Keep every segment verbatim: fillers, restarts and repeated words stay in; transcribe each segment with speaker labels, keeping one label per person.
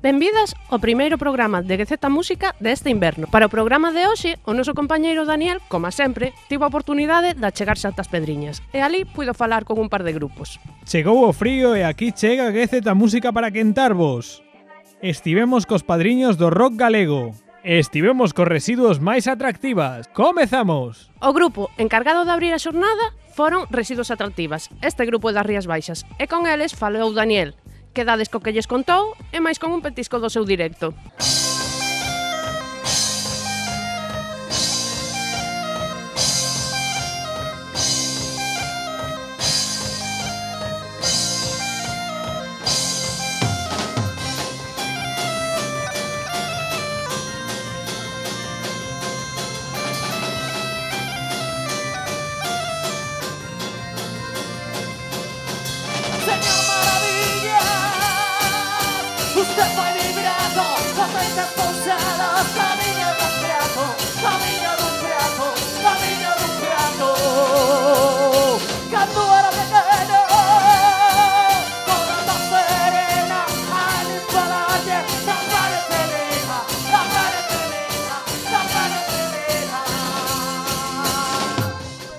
Speaker 1: Benvidas ao primeiro programa de G Z Música deste inverno. Para o programa de hoxe, o noso compañeiro Daniel, como sempre, tivo a oportunidade de achegarse ata as Pedriñas e ali puido falar con un par de grupos.
Speaker 2: Chegou o frío e aquí chega G Z Música para quentarvos. Estivemos cos padriños do rock galego. Estivemos cos residuos máis atractivas. Comezamos!
Speaker 1: O grupo encargado de abrir a xornada foron Residuos Atractivas. Este grupo é das Rías Baixas e con eles falou Daniel. Quedades co que lles contou e máis con un petisco do seu directo.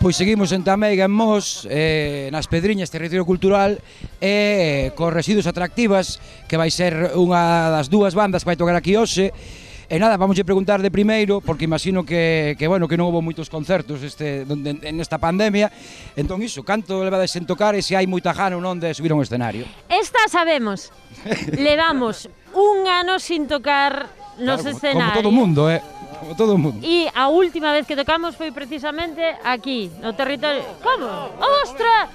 Speaker 3: Pois seguimos en Tameiga, en Mos, eh, nas Pedriñas, territorio cultural, e eh, cos Residuos Atractivas, que vai ser unha das dúas bandas que vai tocar aquí hoxe. E nada, vamos a preguntar de primeiro, porque imagino que, que bueno, que non houve moitos concertos este, donde, en esta pandemia. Entón iso, canto levades en tocar e se hai moita gana ou non de subir a un escenario?
Speaker 4: Esta sabemos, levamos un ano sin tocar nos
Speaker 3: claro,
Speaker 4: escenarios.
Speaker 3: Como todo o mundo, eh? Como todo o mundo.
Speaker 4: E a última vez que tocamos foi precisamente aquí, no territorio... Como? Ostra!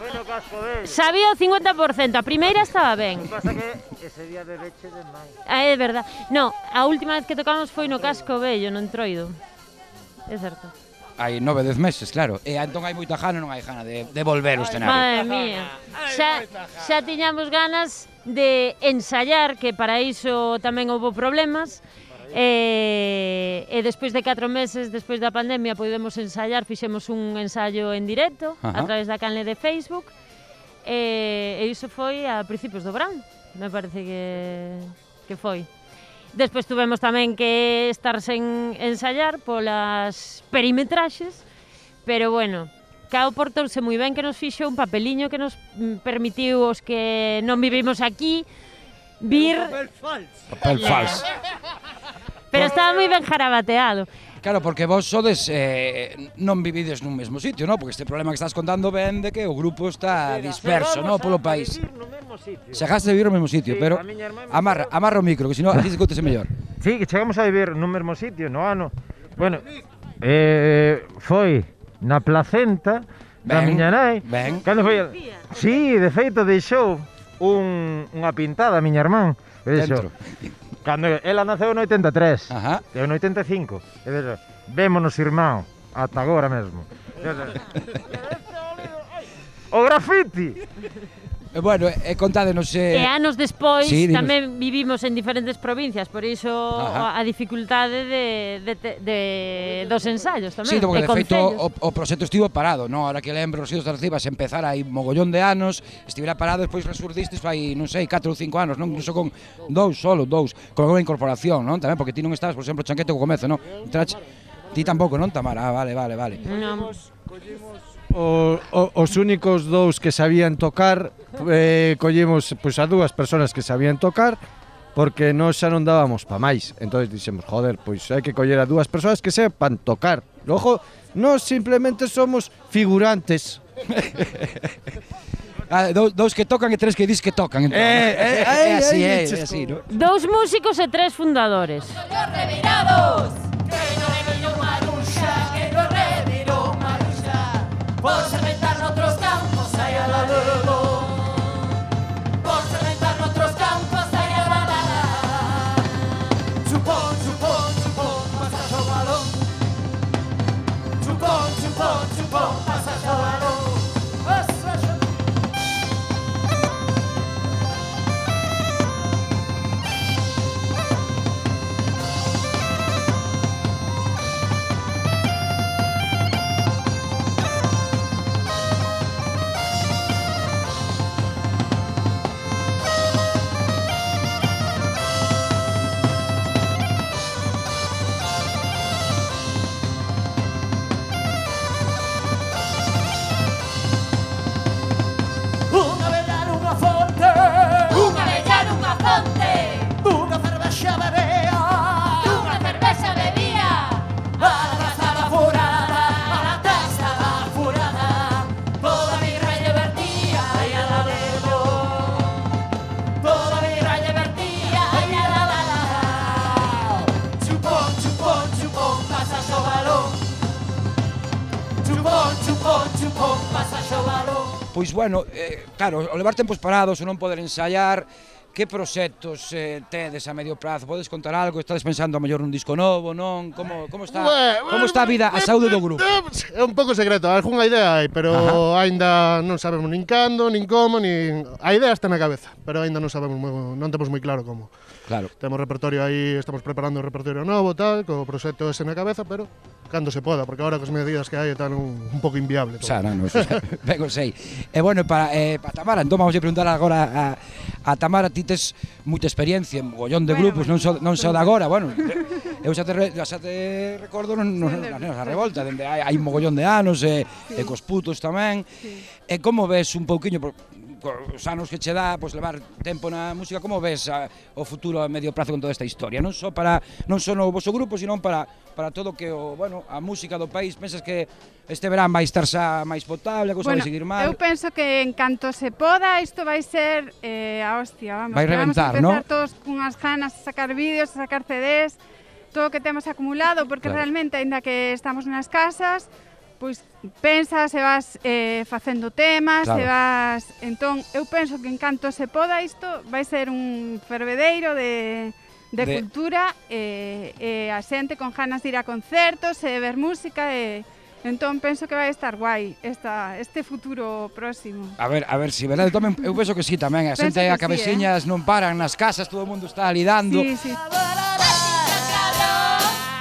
Speaker 4: Sabía o cincuenta por cento, a primeira estaba ben.
Speaker 5: O que pasa que ese día bebeche de máis.
Speaker 4: Ah, é verdad. No, a última vez que tocamos foi no Casco Vello, no Entroido. É certo.
Speaker 3: Hai nove, dez meses, claro. E entón hai moita gana, non hai gana de, de volver ao escenario.
Speaker 4: Madre mía. Xa, xa tiñamos ganas de ensayar, que para iso tamén houve problemas. E, e despois de catro meses, despois da pandemia, podemos ensayar, fixemos un ensayo en directo a través da canle de Facebook e, e iso foi a principios do verán, me parece que, que foi. Despois tuvemos tamén que estar sen ensayar polas perimetraxes, pero bueno, Cao portouse moi ben que nos fixo un papeliño que nos permitiu os que non vivimos aquí vir...
Speaker 5: Papel falso.
Speaker 3: Papel falso.
Speaker 4: Pero estaba moi ben jarabateado.
Speaker 3: Claro, porque vos sodes, eh, non vivides nun mesmo sitio, non? Porque este problema que estás contando ven de que o grupo está disperso, non? Polo país. Chegaste a vivir no mesmo sitio,
Speaker 5: sí,
Speaker 3: pero amarra, amarra o micro, que senón así se escoitese mellor.
Speaker 5: Sí, que chegamos a vivir nun mesmo sitio, no ano. Bueno, eh, foi na placenta da miña nai.
Speaker 3: Ben.
Speaker 5: Cando foi? Sí, de feito deixou un, unha pintada a miña irmán.
Speaker 3: Dentro.
Speaker 5: Cando ela naceu no oitenta e tres,
Speaker 3: Ajá.
Speaker 5: eu no oitenta e cinco, e vejo, vémonos irmán, ata agora mesmo. O grafiti!
Speaker 3: E bueno, e contádenos... Eh...
Speaker 4: E anos despois
Speaker 3: sí,
Speaker 4: tamén vivimos en diferentes provincias, por iso
Speaker 3: Ajá.
Speaker 4: a dificultade de, de, de, de dos ensayos tamén.
Speaker 3: Sí, porque
Speaker 4: e
Speaker 3: de feito
Speaker 4: concellos.
Speaker 3: o, o proxecto estivo parado, non? Ahora que lembro, Residuos Atractivas empezar hai mogollón de anos, estivera parado, despois resurdistes fai, non sei, catro ou cinco anos, non? Incluso con dous, solo dous, con unha incorporación, non? Tamén, porque ti non estabas, por exemplo, Chanquete co comezo, non? Trache... Ti tampouco, non, Tamara? Ah, vale, vale, vale.
Speaker 4: Non.
Speaker 6: O, o, os únicos dous que sabían tocar, eh, collemos pois, a dúas persoas que sabían tocar, porque nós xa non dábamos pa máis. Entón dixemos, joder, pois hai que coller a dúas persoas que sepan tocar. Logo, nós simplemente somos figurantes.
Speaker 3: Ah, dous, dous que tocan e tres que dis que tocan, entón.
Speaker 6: Eh, eh,
Speaker 3: é así, é,
Speaker 6: eh,
Speaker 3: é así, non?
Speaker 4: Dous músicos e tres fundadores.
Speaker 7: Revirados, que no reviró Maruxa, que no reviró Maruxa, por cementar noutros campos, ai a la la, por cementar noutros campos, ai a la la. Chupón, chupón, chupón, pasas o balón. Chupón, chupón, chupón, pasas o balón. chupón, chupón, vas a xogalo.
Speaker 3: Pois, bueno, eh, claro, o levar tempos parados, o non poder ensaiar, que proxectos eh, tedes a medio prazo? Podes contar algo? Estades pensando a mellor nun disco novo, non? Como, como está como está a vida, a saúde do grupo?
Speaker 8: É un pouco secreto, algunha idea hai, pero Ajá. aínda non sabemos nin cando, nin como, nin... A idea está na cabeza, pero aínda non sabemos, moi, non temos moi claro como.
Speaker 3: Claro.
Speaker 8: Temos repertorio aí, estamos preparando un repertorio novo, tal, co proxecto ese na cabeza, pero cando se poda, porque agora cos medidas que hai están un, un pouco inviable todo.
Speaker 3: Xa, non, non, ben o sei. E bueno, para, eh, para Tamara, entón vamos a preguntar agora a, a Tamara, ti tes moita experiencia en mogollón de
Speaker 9: Bueno,
Speaker 3: grupos,
Speaker 9: bueno.
Speaker 3: non só non só de agora, bueno, eu xa te, re, xa te recordo non, non, nas nenas da revolta, dende hai, hai un mogollón de anos, e, sí. e cos putos tamén. Sí. E como ves un pouquiño, por, os anos que che dá, pois levar tempo na música, como ves a, o futuro a medio prazo con toda esta historia? Non só para non só no voso grupo, sino para para todo que o, bueno, a música do país, pensas que este verán vai estar xa máis potable, a cousa
Speaker 9: Bueno,
Speaker 3: vai seguir mal?
Speaker 9: eu penso que en canto se poda, isto vai ser eh, a hostia, vamos.
Speaker 3: Vai
Speaker 9: que
Speaker 3: reventar,
Speaker 9: vamos a empezar
Speaker 3: ¿no?
Speaker 9: todos cunhas ganas de sacar vídeos, de sacar C Ds, todo o que temos acumulado, porque
Speaker 3: Claro.
Speaker 9: realmente, aínda que estamos nas casas, pois pensas e vas eh, facendo temas,
Speaker 3: Claro.
Speaker 9: e vas... Entón, eu penso que en canto se poda isto, vai ser un fervedeiro de, de,
Speaker 3: De-
Speaker 9: cultura, e, e a xente con ganas de ir a concertos, e ver música, e entón penso que vai estar guai esta, este futuro próximo.
Speaker 3: A ver, a ver, si, verdade, tamén, eu penso que sí tamén, a
Speaker 9: Penso
Speaker 3: xente
Speaker 9: que
Speaker 3: a
Speaker 9: sí,
Speaker 3: cabeciñas non paran nas casas, todo o mundo está lidando.
Speaker 9: Sí, sí.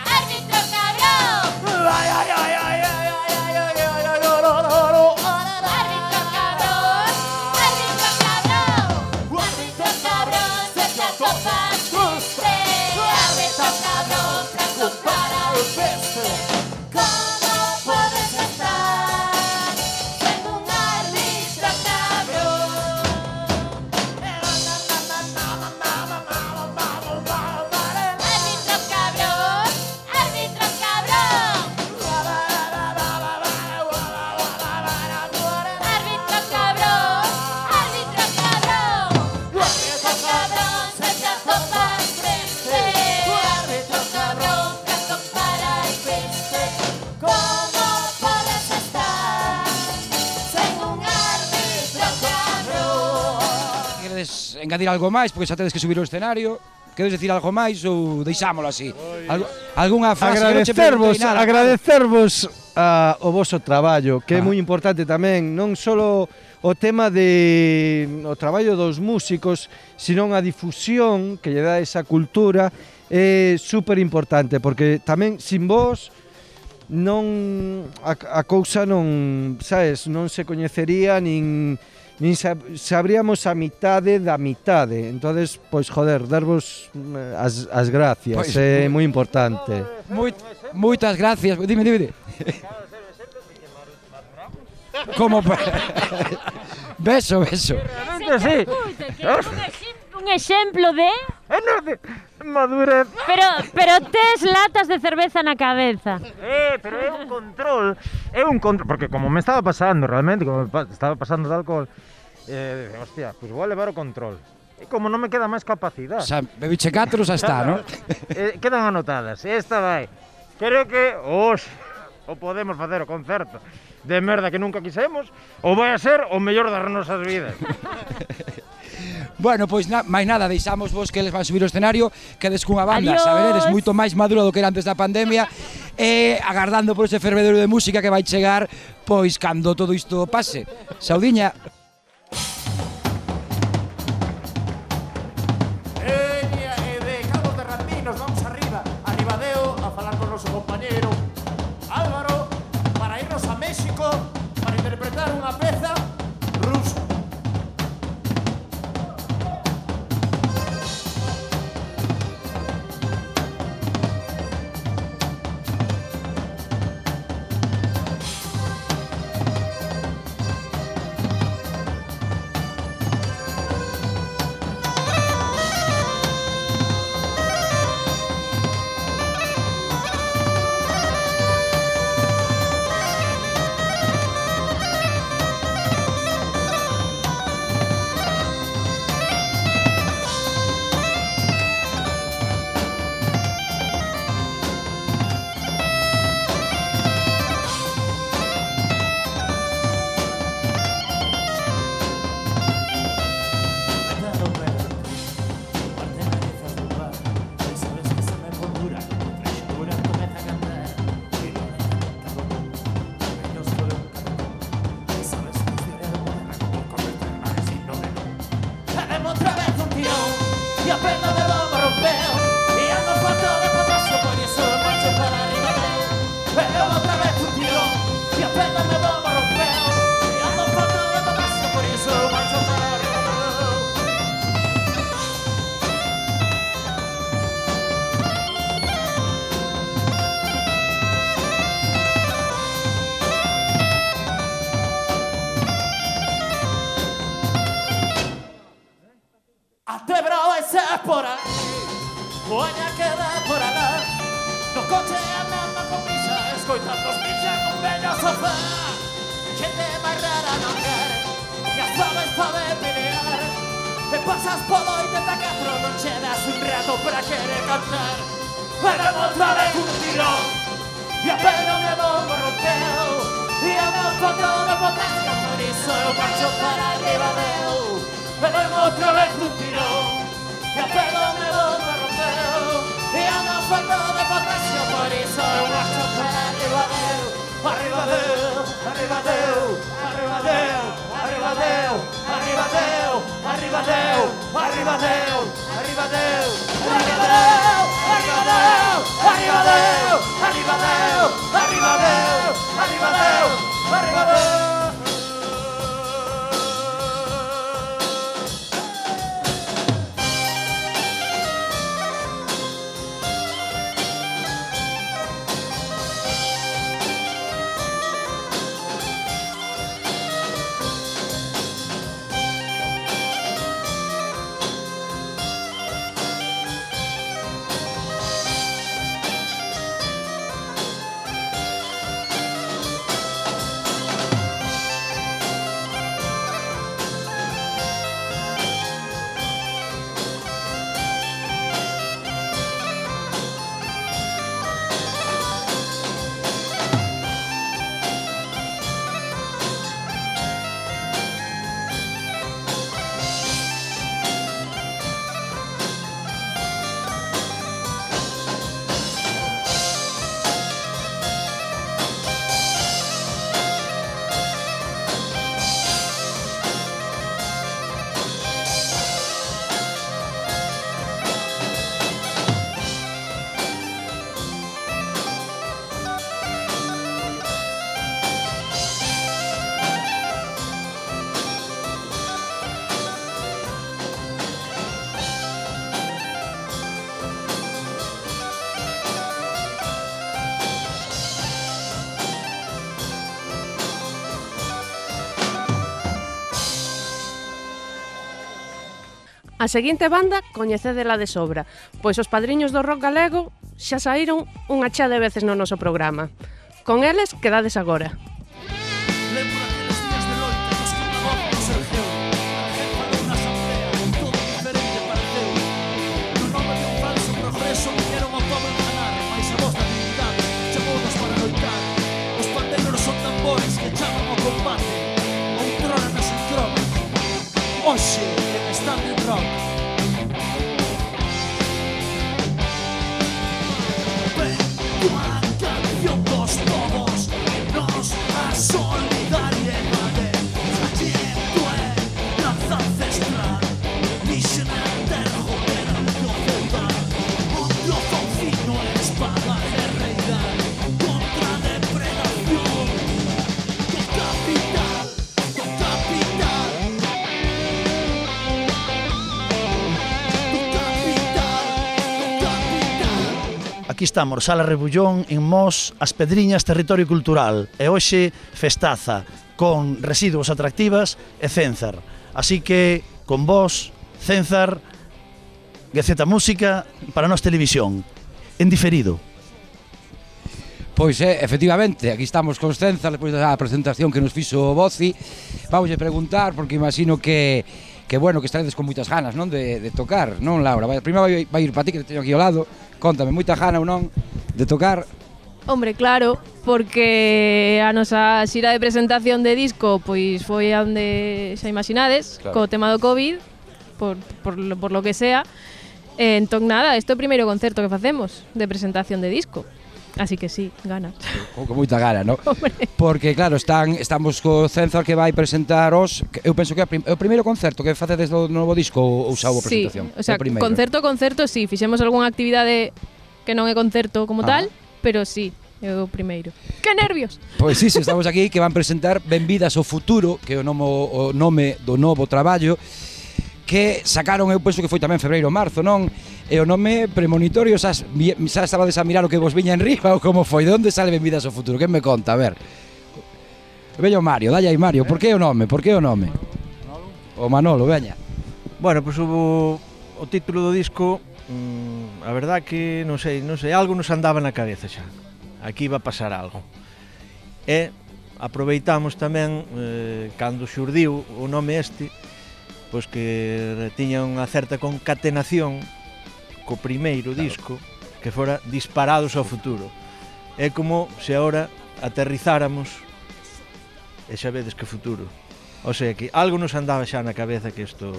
Speaker 7: Árbitro cabrón,
Speaker 8: Ai, ai, ai, ai, ai, ai, ai, ai, ai, ai,
Speaker 7: árbitro cabrón, árbitro cabrón, árbitro cabrón, se te atopas triste, árbitro cabrón, franco para el peste. ¿Cómo puedes estar en un árbitro cabrón? Árbitro cabrón, árbitro cabrón. Árbitro cabrón, árbitro cabrón. Árbitro cabrón, se te atopas triste. Árbitro cabrón, franco para el peste. ¿Cómo puedes estar sin un árbitro cabrón?
Speaker 3: Queredes engadir algo máis, porque xa tedes que subir ao escenario? Queredes decir algo máis ou deixámolo así? Algo, algunha frase? Eu non che
Speaker 6: Agradecervos,
Speaker 3: preguntei nada,
Speaker 6: agradecervos a, o voso traballo, que é
Speaker 3: Ah.
Speaker 6: moi importante tamén, non só o tema de o traballo dos músicos, sino a difusión que lle dá esa cultura é super importante, porque tamén sin vos non a, a cousa non, sabes, non se coñecería nin nin sab, sabríamos a mitade da mitade. Entonces, pois joder, darvos eh, as, as gracias,
Speaker 3: Pois,
Speaker 6: é moi importante.
Speaker 3: Moi, moitas gracias. Dime, dime. Como pa... Beso, beso.
Speaker 5: Realmente sí.
Speaker 4: Escuita, que un, ex- un exemplo de...
Speaker 5: É non de madurez.
Speaker 4: Pero, pero tes latas de cerveza na cabeza.
Speaker 5: Eh, pero é un control, é un control, porque como me estaba pasando realmente, como me pa- estaba pasando de alcohol, eh, hostia, pues vou a levar o control. E como non me queda máis capacidade,
Speaker 3: Xa, bebiche catro, xa está, non?
Speaker 5: eh, quedan anotadas. Esta vai. Creo que hoxe o podemos facer o concerto de merda que nunca quisemos, ou vai a ser o mellor das nosas vidas.
Speaker 3: Bueno, pois na, máis nada, deixamos vos que eles van subir ao escenario, quedes cunha banda,
Speaker 4: Adiós.
Speaker 3: saberedes, moito máis maduro do que era antes da pandemia, e agardando por ese fervedero de música que vai chegar, pois cando todo isto pase. Saudiña.
Speaker 10: Veña, e de Cabo Terrandinos vamos arriba, a Ribadeo, a falar con noso compañeiro Álvaro, para irnos a México, para interpretar unha peza rusa.
Speaker 7: Árbitro
Speaker 10: Oaña queda por alá. No coche andando con prisa, escoitando os pincha con vello sofá. Xente máis rara non quer, e as faves pode pelear. E pasas polo oitenta e catro, non che das un rato para querer cantar. Pero outra vez un tirón, e a pelo me vou rompeu. E a meu foto de potasio, por iso eu marcho para arriba deu. Pero outra vez un tirón, e a pelo me vou rompeu. E a meu foto de potasio, por iso eu marcho para arriba deu. Arriba deu, arriba deu, arriba deu, arriba deu, arriba deu, arriba deu, arriba deu, arriba deu, arriba deu, arriba deu, arriba deu, arriba deu, arriba deu, arriba deu, arriba deu.
Speaker 1: A seguinte banda coñecédela de sobra, pois os padriños do rock galego xa saíron unha chea de veces no noso programa. Con eles quedades agora.
Speaker 10: Lembro aqueles días de loita nos que unha voz nos ergueu. A jefa de unha asamblea con todo diferente pareceu. No nome de un falso progreso viñeron ao povo enganar, mais a voz da dignidade chamounos para loitar. Os pandeiros son tambores que chaman ao combate, outrora nas entronas, hoxe en Standing Rock. Ven, tua canción dos todos, nos a solidariedade. Trayecto é lanza ancestral, misión eterno operante o feudal. Onde o faucino é espada guerreira contra a depredación. Do capital, do capital, do capital, do capital.
Speaker 11: Aquí estamos, Sala Rebullón, en Mos, As Pedriñas, Territorio Cultural. E hoxe festaza con Residuos Atractivas e Cénzar. Así que, con vos, Cénzar, Gaceta Música para Nos Televisión. En diferido.
Speaker 3: Pois é, efectivamente, aquí estamos con Cénzar despois da presentación que nos fixo o Boci. Vamos a preguntar, porque imagino que que bueno, que estaredes con moitas ganas, non, de, de tocar, non, Laura? Vai, primeiro vai, vai ir para ti, que te teño aquí ao lado. Contame, moita gana ou non de tocar?
Speaker 12: Hombre, claro, porque a nosa xira de presentación de disco pois foi a onde xa imaginades,
Speaker 3: Claro.
Speaker 12: co tema do COVID, por, por, lo- por lo que sea. Eh, entón nada, isto é o primeiro concerto que facemos de presentación de disco. Así que sí, ganas.
Speaker 3: Con, con moita gana, non? Porque claro, están estamos co Cénzar que vai presentar os, que eu penso que é a prim- é o primeiro concerto que facedes do novo disco ou, ou xa houve
Speaker 12: Sí,
Speaker 3: presentación?
Speaker 12: o sea,
Speaker 3: É o primeiro.
Speaker 12: concerto, concerto, sí, fixemos algunha actividade que non é concerto como
Speaker 3: Ah.
Speaker 12: tal, pero sí, é o primeiro. Que nervios!
Speaker 3: Pois sí, sí, estamos aquí que van presentar Benvidas ao Futuro, que é o nome, o nome do novo traballo que sacaron, eu penso que foi tamén febreiro ou marzo, non? E o nome premonitorio, xa, xa estabades a mirar o que vos viña en riba ou como foi? De onde sale Benvidas ao Futuro? Que me conta? A ver. Veño Mario, dalle aí Mario, por que o nome? Por que o nome? O Manolo, veña.
Speaker 13: Bueno, pois o, o título do disco
Speaker 6: mm, a verdad que non sei, non sei, algo nos andaba na cabeza xa. Aquí iba a pasar algo. E aproveitamos tamén, eh, cando xurdiu o nome este, pois que tiña unha certa concatenación co primeiro disco, que fora Disparados ao futuro. É como se agora aterrizáramos e xa vedes que futuro. O sea que algo nos andaba xa na cabeza que isto...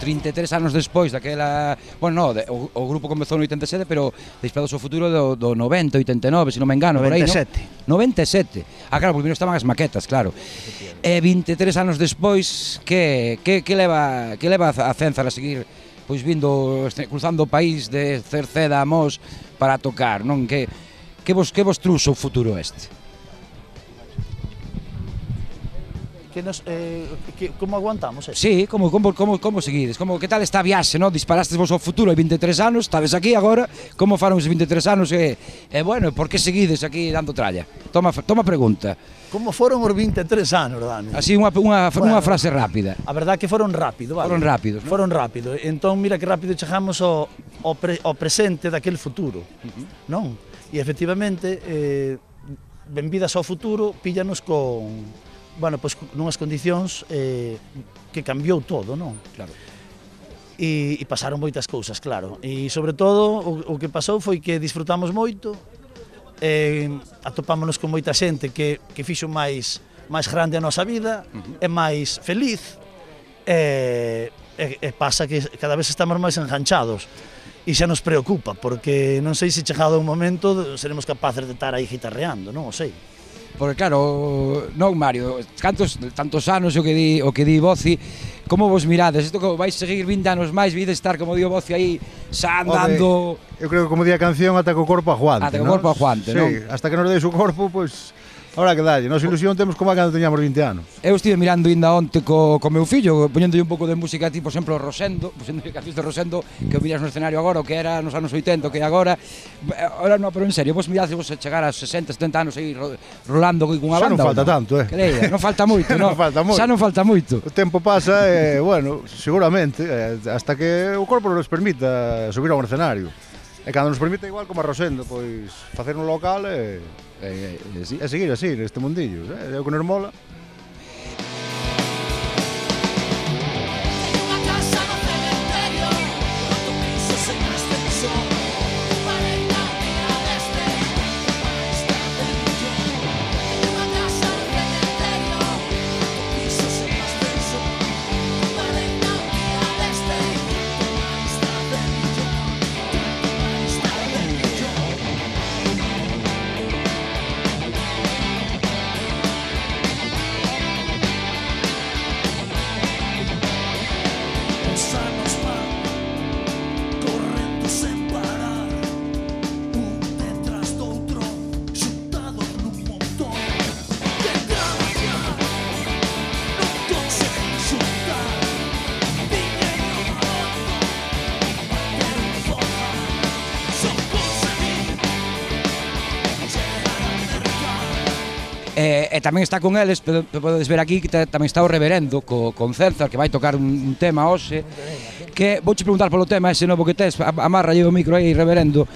Speaker 3: trinta e tres anos despois daquela... Bueno, no, de, o, o grupo comezou no oitenta e sete, pero Disparados ao futuro do, do noventa, oitenta e nove, se non me engano,
Speaker 6: noventa e
Speaker 3: por aí,
Speaker 6: sete.
Speaker 3: No? noventa e sete. Ah, claro, porque primeiro estaban as maquetas, claro. E vinte e tres anos despois, que, que, que leva que leva a Cénzar a seguir pois vindo, este, cruzando o país de Cerceda a Mos para tocar, non? Que, que, vos, que vos truxo o futuro este?
Speaker 11: Que nos, eh, que, como aguantamos eso?
Speaker 3: Sí, como, como, como, como seguides? Como, que tal esta viaxe, no? Disparastes vos ao futuro hai vinte e tres anos, estades aquí agora, como faron os vinte e tres anos e, e bueno, por que seguides aquí dando tralla? Toma, toma pregunta.
Speaker 11: Como foron os vinte e tres anos, Dani?
Speaker 3: Así unha, unha,
Speaker 11: Bueno,
Speaker 3: unha frase rápida.
Speaker 11: A verdad que foron rápido, vale?
Speaker 3: Foron rápidos, non?
Speaker 11: Foron rápido. Entón, mira que rápido chegamos ao, ao, pre, ao presente daquel futuro, uh-huh. non? E efectivamente, eh, benvidas ao futuro, píllanos con... bueno, pois nunhas condicións eh, que cambiou todo, non?
Speaker 3: Claro.
Speaker 11: E, e pasaron moitas cousas, claro. E sobre todo o, o que pasou foi que disfrutamos moito, eh, atopámonos con moita xente que, que fixo máis máis grande a nosa vida, uh-huh. e máis feliz, e, e, e pasa que cada vez estamos máis enganchados. E xa nos preocupa, porque non sei se chegado un momento seremos capaces de estar aí guitarreando, non o sei.
Speaker 3: Porque claro, non Mario, cantos tantos anos o que di o que di Boci, como vos mirades? Isto que vais seguir vinte anos máis, vides estar como di o Boci aí xa andando.
Speaker 13: Home, eu creo que como di a canción, ata co corpo aguante,
Speaker 3: ata co corpo aguante,
Speaker 13: sí,
Speaker 3: non?
Speaker 13: Hasta que nos deis o corpo, pois ahora que dalle, nos ilusión temos como cando teñamos vinte anos.
Speaker 3: Eu estive mirando ainda onte co, co meu fillo, poñéndolle un pouco de música, tipo, por exemplo, Rosendo, poñéndolle cancións de Rosendo, que o miras no escenario agora, o que era nos anos oitenta, o que é agora. Ahora non, pero en serio, vos mirades vos a chegar a sesenta, setenta anos aí ro, rolando con unha banda.
Speaker 13: Xa non falta
Speaker 3: no?
Speaker 13: tanto, eh.
Speaker 3: Que leia, non falta moito, non?
Speaker 13: non falta moito.
Speaker 3: Xa non falta moito.
Speaker 13: O tempo pasa e, eh, bueno, seguramente, eh, hasta que o corpo nos permita subir a un escenario. E cando nos permite igual como a Rosendo, pois facer un local e,
Speaker 3: e, e, sí.
Speaker 13: e seguir así neste mundillo, eh? É o que nos mola.
Speaker 3: E, e tamén está con eles, podedes ver aquí que tamén está o Reverendo co, con Cénzar, que vai tocar un, un tema hoxe, que vouche preguntar polo tema ese novo que tes, amarra o micro aí, Reverendo.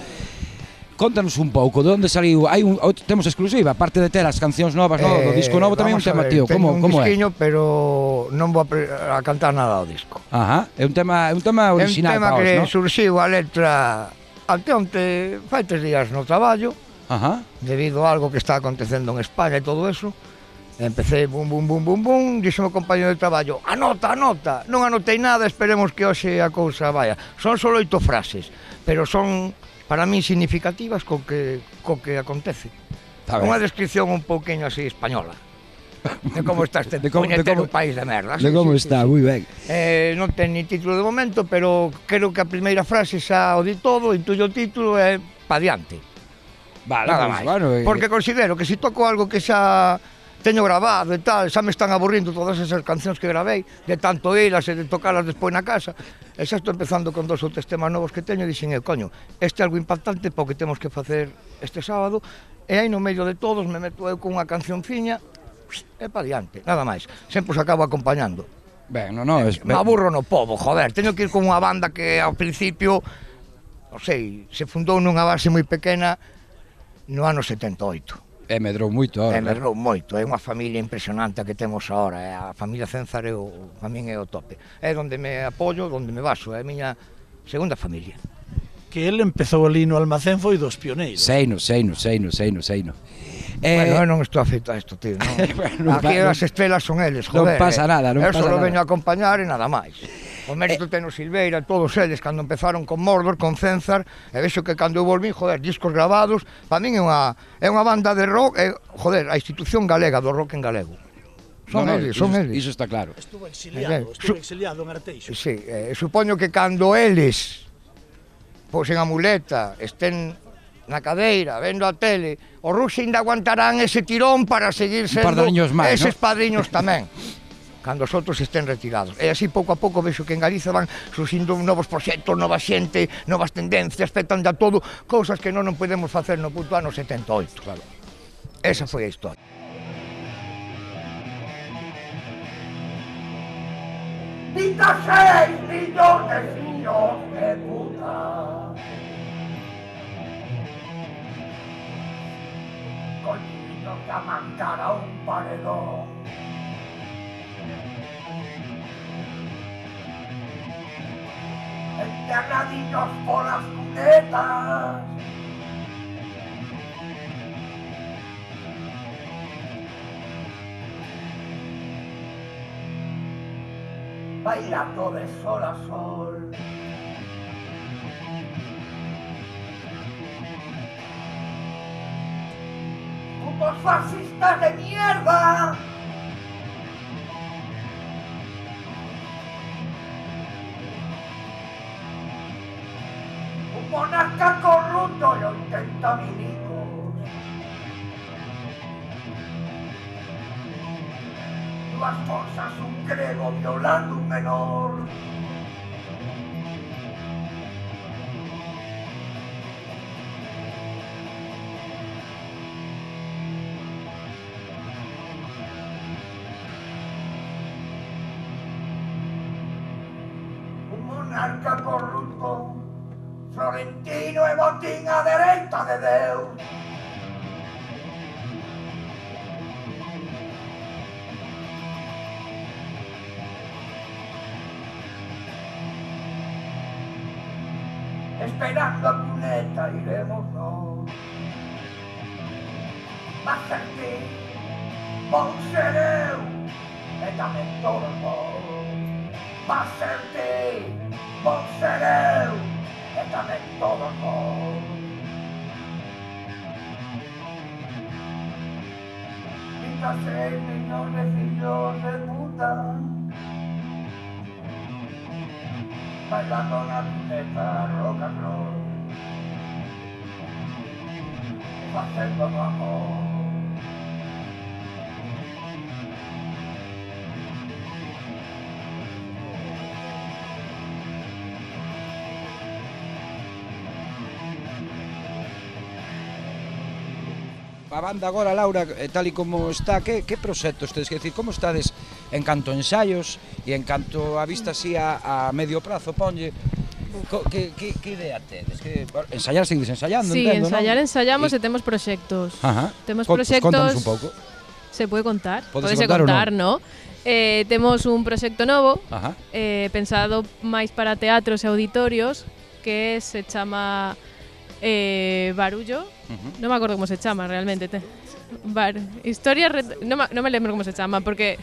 Speaker 3: Contanos un pouco, de onde saliu? Hai un, temos exclusiva, aparte de ter as cancións novas, no, do disco novo tamén un tema tío, como como é?
Speaker 14: Teño un disquiño, pero non vou a, a cantar nada ao disco.
Speaker 3: Ajá, é un tema, é un tema original
Speaker 14: para
Speaker 3: vos,
Speaker 14: non? É un tema que
Speaker 3: ¿no?
Speaker 14: surxiu a letra ante onte, fai tres días no traballo,
Speaker 3: Ajá.
Speaker 14: debido a algo que está acontecendo en España e todo eso. Empecé bum, bum, bum, bum, bum, dixo o compañero de traballo, anota, anota, non anotei nada, esperemos que hoxe a cousa vaya. Son só oito frases, pero son para mí significativas co que, co que acontece. Unha descripción un pouquinho así española. De como está este puñetero país de merda.
Speaker 3: De como está, moi ben.
Speaker 14: Eh, non ten ni título de momento, pero creo que a primeira frase xa o di todo, intuyo o título é pa diante.
Speaker 3: Vale,
Speaker 14: nada
Speaker 3: pues,
Speaker 14: máis.
Speaker 3: Bueno, eh,
Speaker 14: Porque considero que se toco algo que xa teño grabado e tal, xa me están aburrindo todas esas cancións que gravei, de tanto ilas e de tocalas despois na casa, e xa estou empezando con dos ou tres temas novos que teño, e dixen, eu, coño, este é algo impactante porque temos que facer este sábado, e aí no medio de todos me meto eu con unha canción fiña, e pa diante, nada máis, sempre os acabo acompañando.
Speaker 3: Ben, no, no, es...
Speaker 14: Me aburro no pobo, joder, teño que ir con unha banda que ao principio, non sei, se fundou nunha base moi pequena no ano setenta e oito.
Speaker 3: E medrou moito ahora.
Speaker 14: E medrou moito, é unha familia impresionante a que temos agora, é a familia Cénzar é o, a min é o tope. É onde me apoio, onde me baso, é a miña segunda familia.
Speaker 11: Que ele empezou ali no almacén foi dos pioneiros.
Speaker 3: Seino, seino, seino, seino, seino.
Speaker 14: Eh, bueno, eu non estou afeito a isto, tío, non.
Speaker 3: bueno,
Speaker 14: Aquí
Speaker 3: no,
Speaker 14: as estrelas son eles, joder.
Speaker 3: Non pasa nada, non
Speaker 14: eu
Speaker 3: pasa nada.
Speaker 14: Eu só veño a acompañar e nada máis. O mérito eh, ten o Silveira, todos eles, cando empezaron con Mordor, con Cénzar, e vexo que cando eu volvín, joder, discos grabados, para min é unha, é unha banda de rock, é, joder, a institución galega do rock en galego. Son
Speaker 3: no,
Speaker 14: eles,
Speaker 3: no,
Speaker 14: son
Speaker 3: iso,
Speaker 14: eles.
Speaker 3: Iso está claro.
Speaker 11: Estuvo exiliado, estuvo exiliado en Arteixo.
Speaker 14: Sí, eh, supoño que cando eles, pois en a muleta, estén na cadeira, vendo a tele, os ruxos ainda aguantarán ese tirón para seguir sendo
Speaker 3: máis,
Speaker 14: eses
Speaker 3: ¿no?
Speaker 14: padriños tamén. Cando os outros estén retirados. E así pouco a pouco vexo que en Galiza van surxindo novos proxectos, nova xente, novas tendencias, petan de todo, cousas que non non podemos facer no puto ano setenta e oito. Claro. Esa foi a historia.
Speaker 7: dieciséis millóns de fillos de puta. Collidos que amancar a un paredón. Enterradillos por las cunetas. Bailando de sol a sol. Putos fascistas de mierda. Un monarca corrupto y ochenta milicos. Las cosas, un grego violando un menor. Un monarca corrupto, Florentino e botín a dereita de Deus. Esperando a cuneta iremos va a ser ti, vou ser eu, e tamén todos vos. Va a ser ti, vou ser eu, e tamén todos vos. dieciséis millóns de fillos de puta, bailando na cuneta rock and roll, facendo no amor.
Speaker 3: A banda agora, Laura, tal e como está, que, que proxectos tedes que decir? Como estades en canto ensaios e en canto a vista así a, a medio prazo, ponlle? Co, que, que, que idea tedes? Que ensayar seguides ensayando,
Speaker 12: Sí,
Speaker 3: entendo,
Speaker 12: ensayar
Speaker 3: non?
Speaker 12: ensayamos
Speaker 3: E-
Speaker 12: e temos proxectos.
Speaker 3: Ajá.
Speaker 12: Temos
Speaker 3: Con- pues
Speaker 12: proxectos.
Speaker 3: Contanos un pouco.
Speaker 12: Se pode contar?
Speaker 3: Pódese
Speaker 12: Pódese
Speaker 3: contar ou
Speaker 12: contar, ¿no? Eh, temos un proxecto novo,
Speaker 3: Ajá.
Speaker 12: eh, pensado máis para teatros e auditorios, que se chama eh, Barullo.
Speaker 3: Ujú.
Speaker 12: Non me acordo como se chama realmente. Te. Bar, historia ret... non, me, non me lembro como se chama porque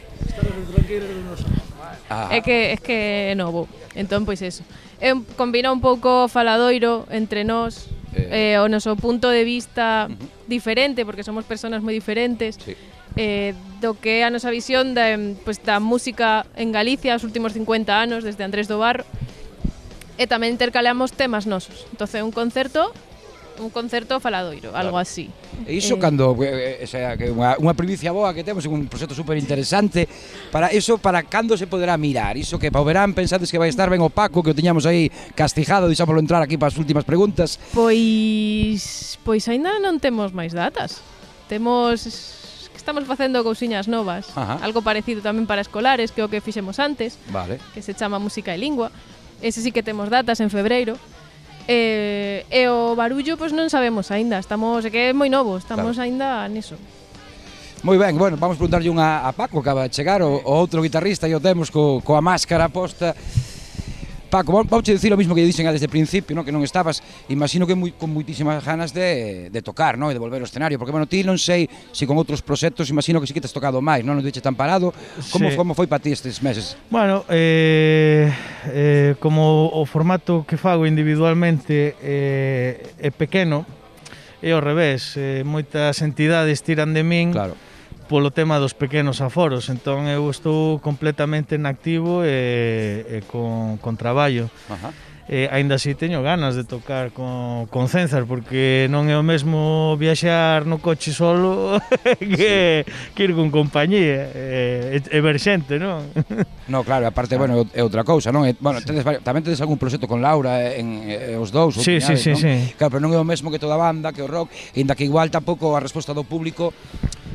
Speaker 3: Ah.
Speaker 12: é que é que é novo. Entón pois eso. É un, combina un pouco faladoiro entre nós,
Speaker 3: Eh.
Speaker 12: eh, o noso punto de vista diferente porque somos persoas moi diferentes.
Speaker 3: Sí.
Speaker 12: Eh, do que é a nosa visión da, em, pues, da música en Galicia os últimos cincuenta anos desde Andrés do Barro, e tamén intercaleamos temas nosos. Entonces un concerto un concerto faladoiro, algo así.
Speaker 3: E iso
Speaker 12: Eh,
Speaker 3: cando, eh, o sea, que unha, unha primicia boa que temos, un proxecto super interesante, para iso, para cando se poderá mirar? Iso que para o verán pensades que vai estar ben opaco, que o tiñamos aí castigado, deixámoslo entrar aquí para as últimas preguntas.
Speaker 12: Pois pois aínda non temos máis datas. Temos que estamos facendo cousiñas novas,
Speaker 3: Ajá.
Speaker 12: algo parecido tamén para escolares, que é o que fixemos antes,
Speaker 3: Vale.
Speaker 12: que se chama Música e Lingua. Ese sí que temos datas en febreiro. Eh, e o Barullo pois non sabemos aínda, estamos, é que é moi novo, estamos
Speaker 3: Claro.
Speaker 12: aínda niso.
Speaker 3: Moi ben, bueno, vamos preguntarlle unha a Paco, que acaba de chegar, o, o outro guitarrista, e o temos co, coa máscara posta. Paco, vamos a dicir o mismo que lle dixen desde o principio, no? Que non estabas, imagino que moi, con moitísimas ganas de, de tocar, no? E de volver ao escenario, porque, bueno, ti non sei se con outros proxectos, imagino que sí que te has tocado máis, non? Non te tan parado. Como,
Speaker 11: Sí.
Speaker 3: como foi para ti estes meses?
Speaker 11: Bueno, eh, eh, como o formato que fago individualmente eh, é pequeno, é ao revés, eh, moitas entidades tiran de min
Speaker 3: claro.
Speaker 11: polo tema dos pequenos aforos, entón eu estou completamente en activo e, e con, con traballo.
Speaker 3: Ajá.
Speaker 11: Eh, aínda así teño ganas de tocar con, con Cenzar, porque non é o mesmo viaxar no coche solo que, sí. que ir con compañía e, e ver xente, non?
Speaker 3: No, claro, aparte, bueno, é outra cousa, non? E, bueno, tedes, vari- tamén tedes algún proxecto con Laura en, en os dous, ou
Speaker 11: Sí, sí,
Speaker 3: tiñades,
Speaker 11: sí,
Speaker 3: non?
Speaker 11: sí.
Speaker 3: Claro, pero non é o mesmo que toda a banda, que o rock, e inda que igual tampouco a resposta do público,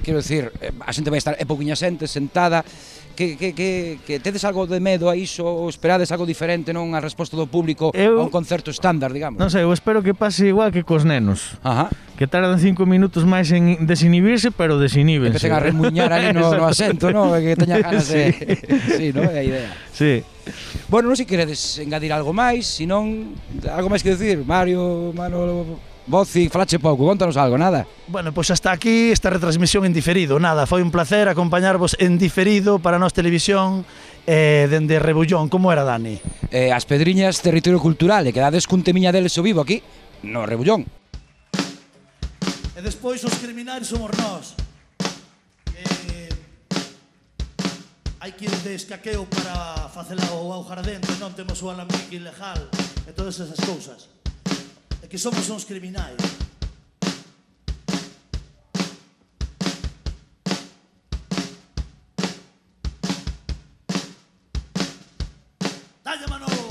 Speaker 3: quero dicir, eh, a xente vai estar é pouquiña xente sentada, que, que, que, que tedes algo de medo a iso, ou esperades algo diferente, non? A resposta do público
Speaker 11: Eu-
Speaker 3: a un concerto estándar, digamos.
Speaker 11: Non sei, eu espero que pase igual que cos nenos.
Speaker 3: Ajá.
Speaker 11: Que tardan cinco minutos máis en desinhibirse, pero desinhíbense.
Speaker 3: Empecen a remuñar ali no, no asento, no? E que teña ganas de... Sí, no? É a idea.
Speaker 11: Sí.
Speaker 3: Bueno, non sei se queredes engadir algo máis, se non, algo máis que decir, Mario, Manolo, Boci, falache pouco, contanos algo, nada.
Speaker 11: Bueno, pois hasta aquí esta retransmisión en diferido. Nada, foi un placer acompañarvos en diferido para Nós Televisión eh, dende Rebullón. Como era, Dani?
Speaker 3: Eh, as Pedriñas, territorio cultural, e quedades cun temiña deles o vivo aquí, no Rebullón.
Speaker 11: E despois os criminais somos nós. Eh, hai que ir de escaqueo para facela o aujar dentro, non temos o alambique ilegal e todas esas cousas. É que somos uns criminais. Dalle, Manolo!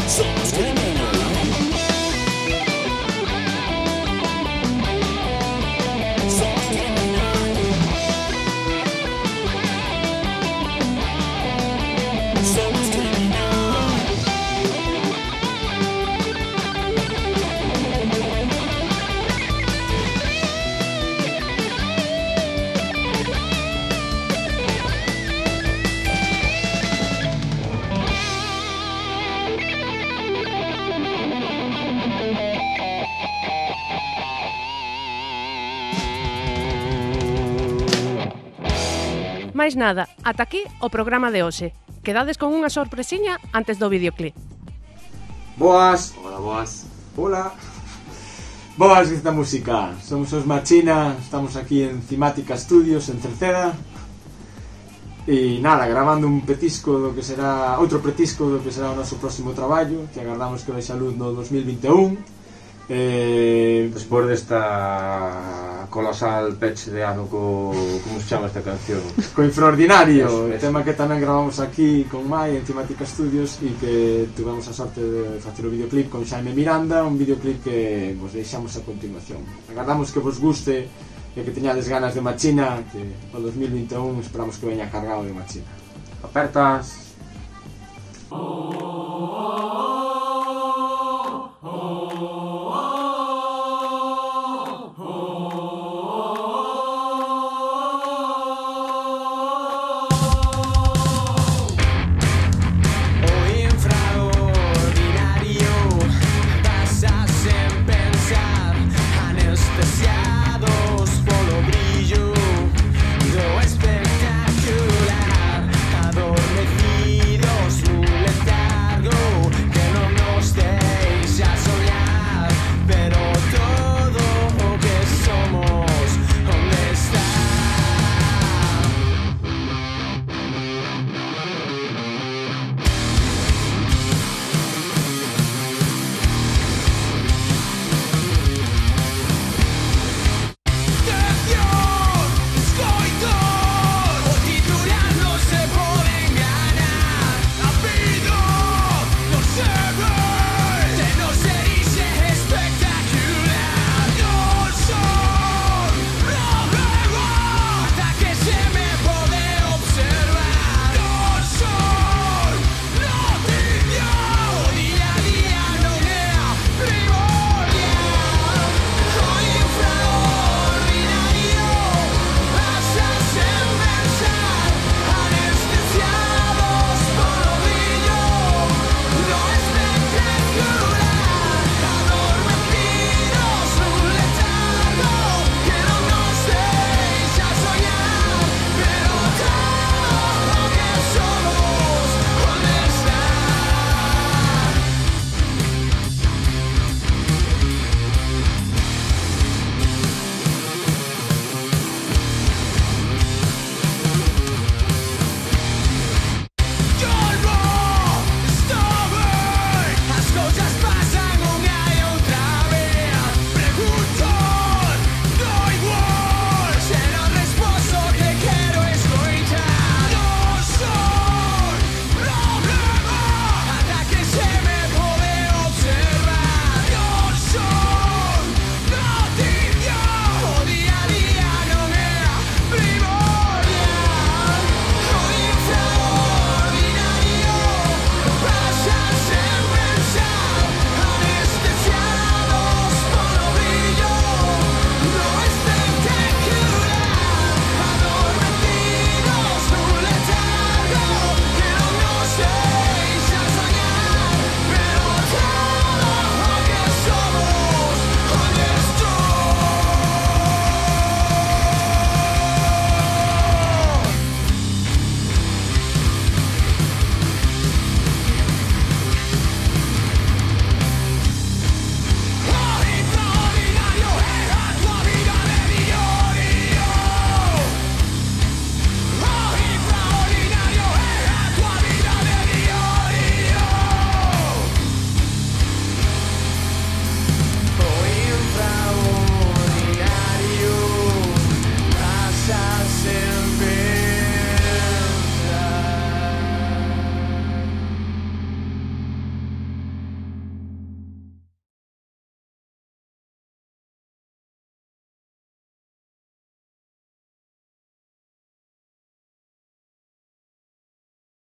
Speaker 7: Somos criminales. Somos criminales. Somos criminales.
Speaker 1: Máis nada, ata aquí o programa de hoxe. Quedades con unha sorpresiña antes do videoclip.
Speaker 15: Boas. Hola, boas. Hola. Boas, esta música. Somos os Machina, estamos aquí en Cimática Studios, en Cerceda. E nada, grabando un petisco do que será, outro petisco do que será o noso próximo traballo, que agardamos que vexa a luz no dos mil vinte e un. Eh,
Speaker 5: Despois desta colosal peche de ano co... como se chama esta canción?
Speaker 15: Co Infraordinario,
Speaker 5: Eso,
Speaker 15: o
Speaker 5: eso.
Speaker 15: tema que tamén gravamos aquí con Mai en Cimática Studios e que tuvemos a sorte de facer o videoclip con Xaime Miranda, un videoclip que vos deixamos a continuación. Agardamos que vos guste e que teñades ganas de Machina, que o dos mil vinte e un esperamos que veña cargado de Machina.
Speaker 5: Apertas.
Speaker 7: Oh.